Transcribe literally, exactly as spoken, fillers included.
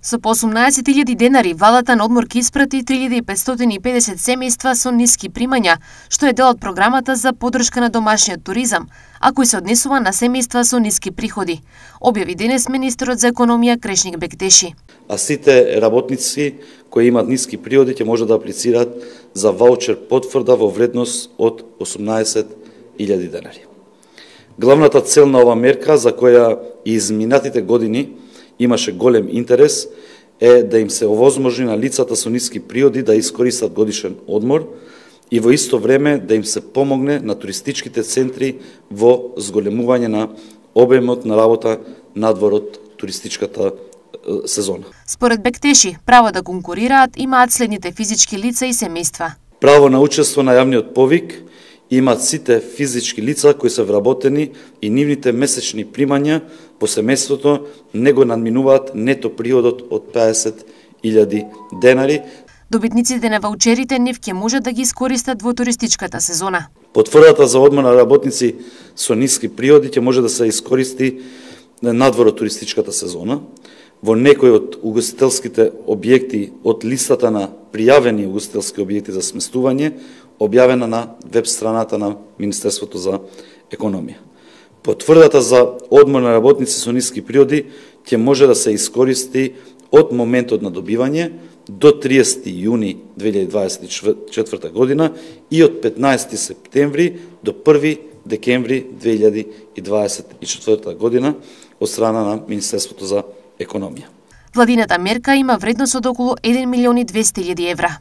Со по осумнаесет илјади денари, владата на одмор ќе испрати три илјади и петстотини и педесет семејства со ниски примања, што е дел од програмата за поддршка на домашниот туризам, а кој се однесува на семејства со ниски приходи, објави денес министерот за економија Крешник Бектеши. А сите работници кои имаат ниски приходи ќе може да аплицираат за ваучер потврда во вредност од осумнаесет илјади денари. Главната цел на ова мерка, за која и изминатите години имаше голем интерес, е да им се овозможни на лицата со ниски приходи да искористат годишен одмор и во исто време да им се помогне на туристичките центри во зголемување на обемот на работа надвор од туристичката сезона. Според Бектеши, право да конкурираат имаат следните физички лица и семејства. Право на учество на јавниот повик имаат сите физички лица кои се вработени и нивните месечни примања по семејството не го надминуваат нето приходот од педесет илјади денари. Добитниците на ваучерите нив ќе може да ги искористат во туристичката сезона. Потврдата за одмор на работници со ниски приходи ќе може да се искористи надвор од туристичката сезона. Во некои од угостителските објекти од листата на пријавени угостителски објекти за сместување, објавена на веб страната на Министерството за економија. Потврдата за одмор на работници со ниски приходи ќе може да се искористи од моментот на добивање до триесети јуни две илјади дваесет и четврта година и од петнаесети септември до први декември две илјади дваесет и четврта година од страна на Министерството за економија. Владината мерка има вредност од околу еден милион и двесте илјади евра.